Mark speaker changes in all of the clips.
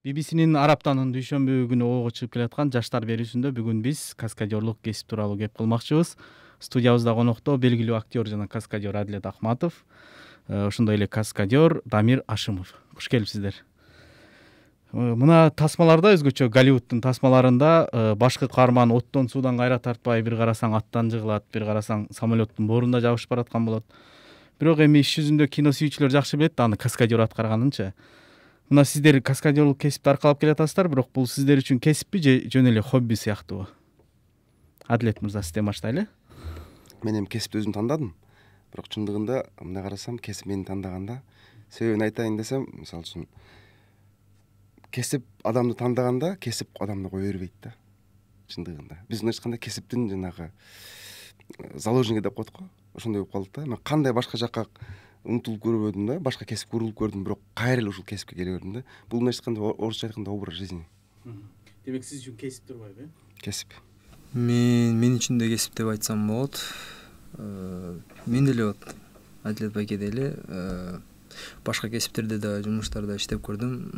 Speaker 1: BBC'нин Араптанын дүйшөмбү күнү ого чыгып келаткан жаштар берүүсүндө бүгүн биз каскадерлук кесип тууралуу кеп кылмакчыбыз. Студиябызда конокто белгилүү актер жана каскадер Адилет Акматов, ошондой эле каскадер Дамир Ашимов. Куш келипсиздер. Мына тасмаларда өзгөчө Голливуддун тасмаларында башкы каарман оттон суудан кайра тартпай, бир карасаң аттан жыгылат, бир карасаң самолеттун борунда жабышып бараткан болот. Бирок эми иш жүзүндө кино сүйүүчүлөр жакшы билет аны каскадер аткарганынчы. Мына сиздер каскадерлук кесипти аркалап келатасыздар, бирок бул сиздер үчүн кесиппи же жөн эле хобби сыяктуубу? Адилет мырза, сизден баштайлы.
Speaker 2: Мен эми кесипти өзүм тандадым. Бирок чындыгында мындай карасам, кесип мени тандаганда, себебин айтайын десем, мисалы үчүн кесип адамды тандаганда, кесип адамды кое бербейт да. Чындыгында. Биз мындайча айтканда кесиптин жанагы заложниги деп коет го. Ошондой болуп калдык да. Мен кандай башка жакка умтулуп көрбөдүм да, башка кесип урулуп көрдүм, бирок кайра эле ушул кесипке келе бердим да. Бул мындайча айтканда орусча айтканда образ жизни.
Speaker 1: Демек сиз үчүн кесип турбайбы, э?
Speaker 2: Кесип.
Speaker 3: Мен үчүн да кесип деп айтсам болот. Мен деле вот Адилет байкедей эле башка кесиптерде да, жумуштарда иштеп көрдүм.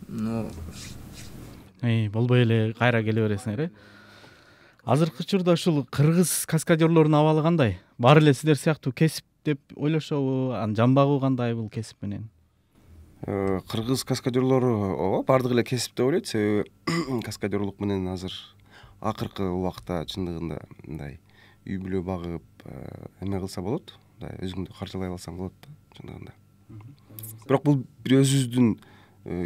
Speaker 3: Но
Speaker 1: болбой эле кайра келе бересиңер, э? Азыркы учурда ушул кыргыз каскадерлордун абалы кандай? Баары эле сиздер сыяктуу кесип деп ойлошобу? Анын жамбагы кандай бул кесип менен?
Speaker 2: Кыргыз каскадерлору ооба баардыгы эле кесип деп ойлойт, себеби каскадерлук менен азыр акыркы убакта чындыгында мындай үй бүлө багып, эме кылса болот, мындай өзүңдү каржылай алсаң болот да, чындыгында. Бирок бул бир өзүбүздүн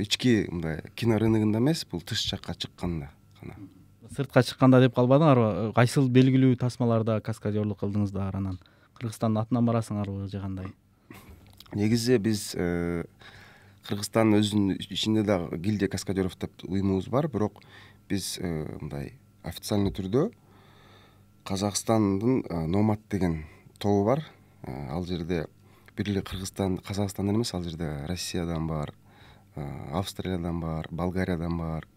Speaker 2: ички мындай кино рыногунда эмес, бул тыш жакка чыкканда гана.
Speaker 1: Сыртка чыкканда деп калбадыңарбы? Кайсыл белгилүү тасмаларда каскадерлук кылдыңыздар, анан Кыргызстандын атынан барасыңарбы же кандай?
Speaker 2: Негизи биз Кыргызстандын өзүнүн ичинде дагы гильдия каскадеров деп уюмубуз бар, бирок биз мындай официальный түрдө Казакстандын Номад деген тобу бар. Ал жерде бир эле Казакстандан эмес, ал жерде Россиядан бар, Австриядан бар, Болгариядан бар.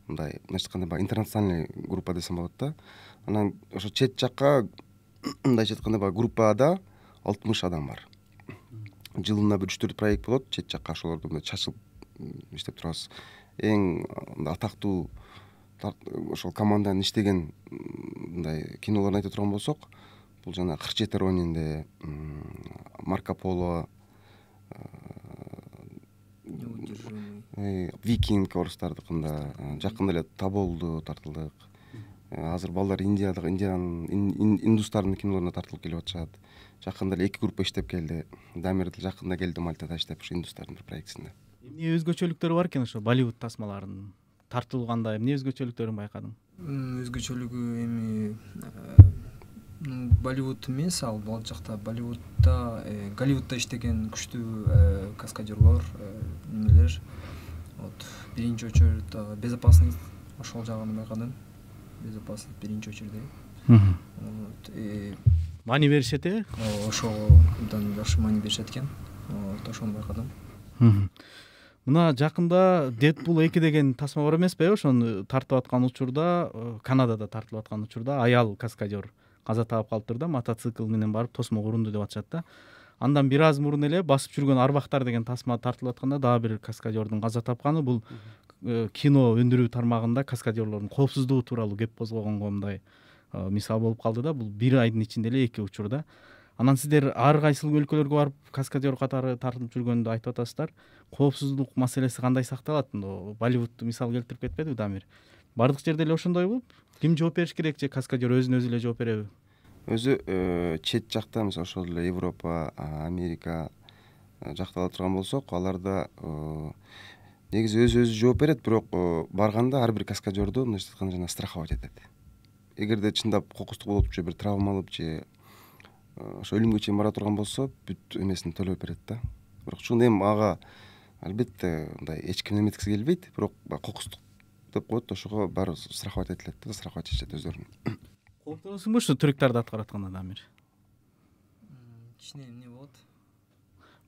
Speaker 2: Мындай айтканда баягы интернациональный группа десем болот да. Анан ошо чет жакка мындайча айтканда баягы группада 60 адам бар. Жылына бир 3-4 проект болот, чет жакка ошолорду чачылып иштеп турабыз. Эң атактуу ошол команданын иштеген мындай кинолорун айта турган болсок, бул жана 47 Ронинде, Марко Поло, Викинг орустардыкында, жакында эле Таболду тартылдык. Азыр балдар индустардын кинолоруна тартылып келип атышат. Жакында эле 2 группа иштеп келди. Дамир жакында келди Мальтада иштеп, ушу индустардын бир проектисинде.
Speaker 1: Эмне өзгөчөлүктөрү бар экен ошо Болливуд тасмаларынын тартылганда? Эмне өзгөчөлүктөрүн байкадың?
Speaker 3: Өзгөчөлүгү эми Болливуд эмес, ал жакта Болливудда, Голливудда иштеген күчтүү каскадерлор, немелер. Вот биринчи очередь безопасность ошол жагын байкадым. Безопасность биринчи очередь.
Speaker 1: Мани беришет, э?
Speaker 3: Ошого абдан жакшы мани беришет экен. Вот ошону байкадым.
Speaker 1: Мына жакында Deadpool 2 деген тасма бар эмеспи? Ошону тартып аткан учурда, Канадада тартылып аткан учурда аял каскадер каза таап калыптыр да, мотоцикл менен барып тосмо урунду деп атышат да. Андан бир аз мурун эле басып жүргөн Арбактар деген тасма тартылып атканда дагы бир каскадердин каза тапканы. Бул кино өндүрүү тармагында каскадерлордун коопсуздугу тууралуу кеп козгогонго мындай мисал болуп калды да. Бул бир айдын ичинде эле 2 учурда. Анан сиздер ар кайсыл өлкөлөргө барып каскадер катары тартылып жүргөндү айтып атасыздар. Коопсуздук маселеси кандай сакталат? Болливудду мисал келтирип кетпедиби Дамир? Бардык жерде эле ошондойбу? Ким жооп бериш керек же каскадер өзүнө өзү эле жооп береби?
Speaker 2: Өзү чет жакта, мисалы ошол эле Европа, Америка жакта ала турган болсок, аларда негизи өзү жооп берет, бирок барганда ар бир каскадерду мындайча айтканда жана страховать этет. Эгерде чындап кокустук болуп же бир травма алып же ошо өлүмгө чейин бара турган болсо, бүт эмесин төлөп берет да. Бирок чын эми ага албетте мындай эч ким эметкиси келбейт, бирок кокустук деп коет, ошого баары страховать этилет да, страховать этишет өздөрүн.
Speaker 1: Кооптоносуңбу ушу трюктарды аткаратканда, Дамир?
Speaker 3: Кичине эмне болот?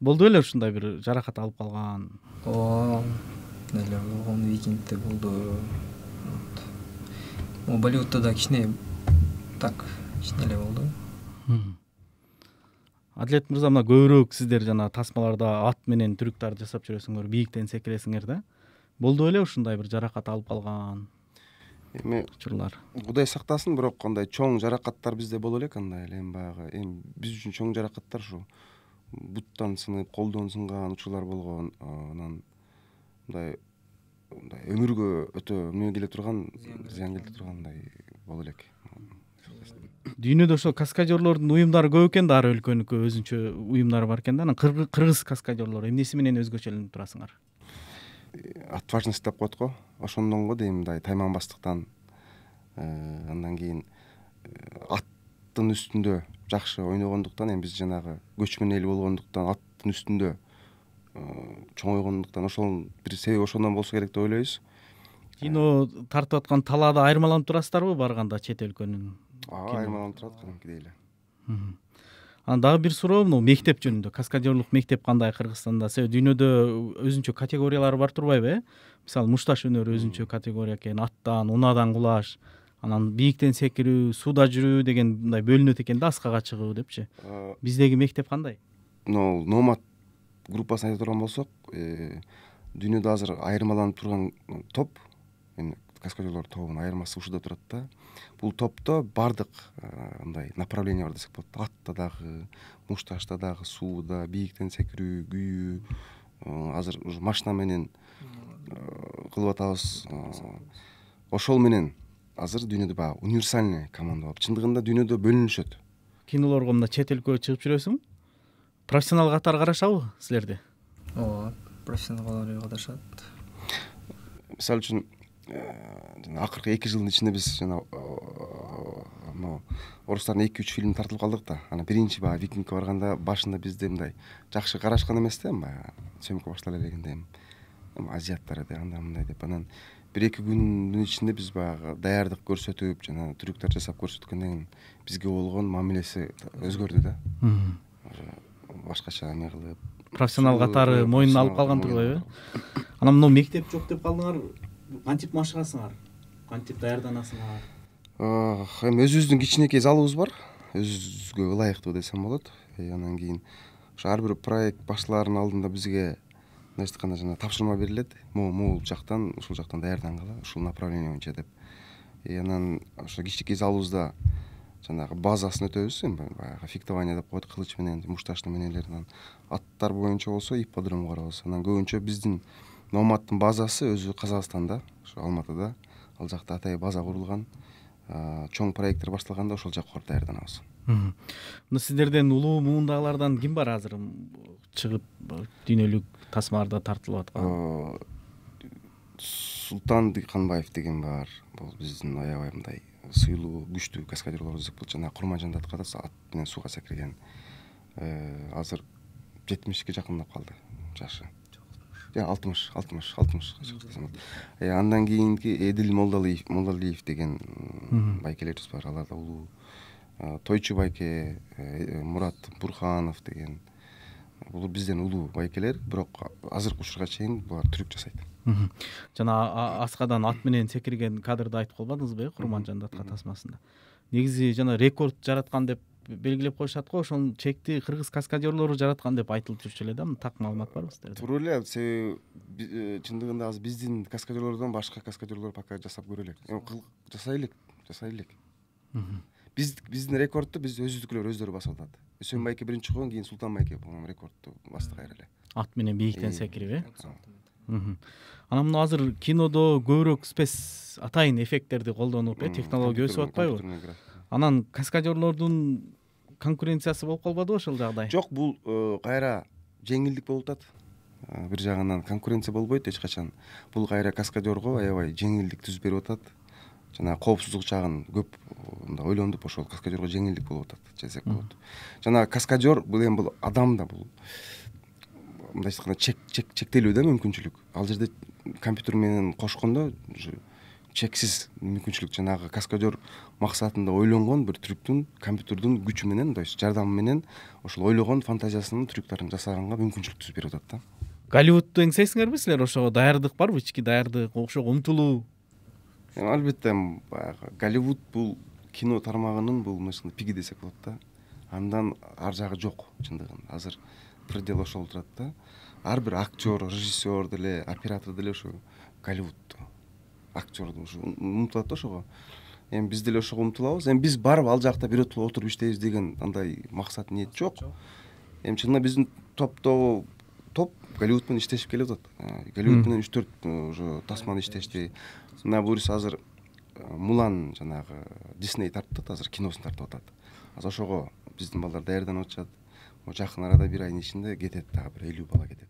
Speaker 1: Болду беле ушундай бир жаракат алып калган?
Speaker 3: Эле болгон, Викингде болду. Болливудда да кичине так, кичине эле болду.
Speaker 1: Адилет мырза, мына көбүрөөк сиздер жана тасмаларда ат менен трюктарды жасап жүрөсүңөр, бийиктен секиресиңер да. болду беле ушундай бир жаракат алып калган
Speaker 2: эми
Speaker 1: учурлар?
Speaker 2: Кудай сактасын, бирок андай чоң жаракаттар бизде боло элек андай эле. Эми баягы биз үчүн чоң жаракаттар ушу буттан сынып, колдон сынган учурлар болгон. Анан мындай өмүргө өтө эмне келе турган, зыян келе тургандай боло элек.
Speaker 1: Дүйнөдө ошо каскадерлордун уюмдары көп экен да, ар өлкөнүкү өзүнчө уюмдары бар экен да. Анан кыргыз каскадерлор эмнеси менен өзгөчөлөнүп турасыңар?
Speaker 2: Отважность деп коет го, ошондон го дейм, мындай тайманбастыктан, андан кийин аттын үстүндө жакшы ойногондуктан, эми биз жанагы көчмөн эл болгондуктан, аттын үстүндө чоңойгондуктан, ошол бир себеби ошондон болсо керек деп ойлойбуз.
Speaker 1: Кино тартып аткан талаада айырмаланып турасыздарбы барганда чет өлкөнүн?
Speaker 2: Айырмаланып турат кадимкидей эле.
Speaker 1: Анан дагы бир суроо могу мектеп жөнүндө. Каскадерлук мектеп кандай Кыргызстанда? Себеби дүйнөдө өзүнчө категориялары бар турбайбы? Мисалы мушташ өнөрү өзүнчө категория экен, аттан, унадан кулаш, анан бийиктен секирүү, сууда жүрүү деген мындай бөлүнөт экен да, аскага чыгуу депчи. Биздеги мектеп кандай?
Speaker 2: Номад группасын айта турган болсок, дүйнөдө азыр айырмаланып турган топ, каскадерлор тобунун айырмасы ушуда турат да. Бул топто бардык мындай направление бар десек болот. Атта дагы, мушташта дагы, сууда, бийиктен секирүү, күйүү, азыр ушу машина менен кылып атабыз. Ошол менен азыр дүйнөдө баягы универсальный команда болуп, чындыгында дүйнөдө бөлүнүшөт.
Speaker 1: Кинолорго мына чет өлкөгө чыгып жүрөсүң? Профессионал катары карашабы силерди?
Speaker 3: Ооба, профессионалдар катышат.
Speaker 2: Мисалы үчүн акыркы 2 жылдын ичинде биз жана орустардын 2-3 фильми тартылып калдык да. Анан биринчи баягы Викингке барганда башында бизде мындай жакшы карашкан эмес да, баягы съемка баштала элегенде азиаттар эди, андай мындай деп. Анан 1-2 күндүн ичинде биз баягы даярдык көрсөтүп, жана трюктар жасап көрсөткөндөн кийин бизге болгон мамилеси өзгөрдү да. Башкача эме кылып,
Speaker 1: профессионал катары моюнуна алып калган турбайбы? Анан мына мектеп жок деп калдыңар. Кантип машыгасыңар? Кантип даярданасыңар?
Speaker 2: Эми өзүбүздүн кичинекей залыбыз бар. Өзүбүзгө ылайыктуу десем болот. Андан кийин ошо ар бир проект башталаарынын алдында бизге мындайча айтканда жана тапшырма берилет. Могул жактан, ушул жактан даярдангыла, ушул направление боюнча деп. Анан ошо кичинекей залыбызда жанагы базасын өтөбүз. Эми баягы фехтование деп коет, кылыч менен, мушташны менелерден. Аттар боюнча болсо ипподром карабыз. Анан көбүнчө биздин Номадтын базасы өзү Казакстанда, ошо Алматыда. Ал жакта атай база курулган. Чоң проекттер башталганда ошол жакка барып даярданабыз.
Speaker 1: Мына сиздерден улуу муундагылардан ким бар азыр чыгып дүйнөлүк тасмаларда тартылып аткан?
Speaker 2: Султан Дыйканбаев деген бар. Бул биздин аябай мындай сыйлуу, күчтүү каскадерлор десек болот. Жана Курманжанда аткарат, ат менен сууга секирген. Азыр 70-ке жакындап калды жашы. 60. Андан кийинки Эдил Молдалиев деген байкелерибиз бар. Алар да улуу. Тойчу байке, Мурат Бурханов деген. Бул бизден улуу байкелер, бирок азыркы учурга чейин булар трюк жасайт.
Speaker 1: Жана аскадан ат менен секирген кадрды айтып калбадыңызбы, Курманжанда атка тасмасында? Негизи жана рекорд жараткан деп белгилеп коюшат го, ошонун чекти кыргыз каскадерлору жараткан деп айтылып жүрчү эле да. Так маалымат барбы сиздерде?
Speaker 2: Туура эле, себеби чындыгында азыр биздин каскадерлордон башка каскадерлор пока жасап көрө элек. Жасай элек. Биздин рекордту биз өзүбүздүкүлөр өздөрү басып атат. Үсөн байке биринчи койгон, кийин Султан байке болгон рекордту басты кайра эле.
Speaker 1: Ат менен бийиктен секирип, Анан мына азыр кинодо көбүрөөк спец атайын эффекттерди колдонуп, технология өсүп атпайбы? Анан каскадерлордун конкуренциясы болуп калбадыбы ошол жагдай?
Speaker 2: Жок, бул кайра жеңилдик болуп атат. Бир жагынан конкуренция болбойт эч качан. Бул кайра каскадерго аябай жеңилдик түзүп берип атат. Жана коопсуздук жагын көп ойлонуп, ошол каскадерго жеңилдик болуп атат десек болот. Жана каскадер бул эми бул адам да, бул мындайча айтканда чектелүү да мүмкүнчүлүк. Ал жерде компьютер менен кошкондо чексиз мүмкүнчүлүк. Жанагы каскадер максатында ойлонгон бир трюктун компьютердин күчү менен, то есть жардамы менен ошол ойлогон фантазиясынын трюктарын жасаганга мүмкүнчүлүк түзүп берип атат да.
Speaker 1: Голливудду эңсейсиңерби силер? Ошого даярдык барбы? Ички даярдык, ошого умтулуу?
Speaker 2: Албетте, баягы Голливуд бул кино тармагынын бул пиги десек болот да. Андан ар жагы жок чындыгында. Азыр предел ошол турат да. Ар бир актер, режиссер деле, оператор деле ошо Голливудду, актерду ушу умтулат да ошого. Эми биз деле ошого умтулабыз. Эми биз барып ал жакта бирөтүп отуруп иштейбиз деген андай максат ниет жок. Эми чынында биздин топ Голливуд менен иштешип келип атат. Голливуд менен 3-4 уже тасманы иштешти. Мына буюрса азыр Мулан жанагы Disney тартып атат, азыр киносун тартып атат. Азыр ошого биздин балдар даярданып атышат. Жакын арада 1 айдын ичинде кетет, дагы бир 50 бала кетет.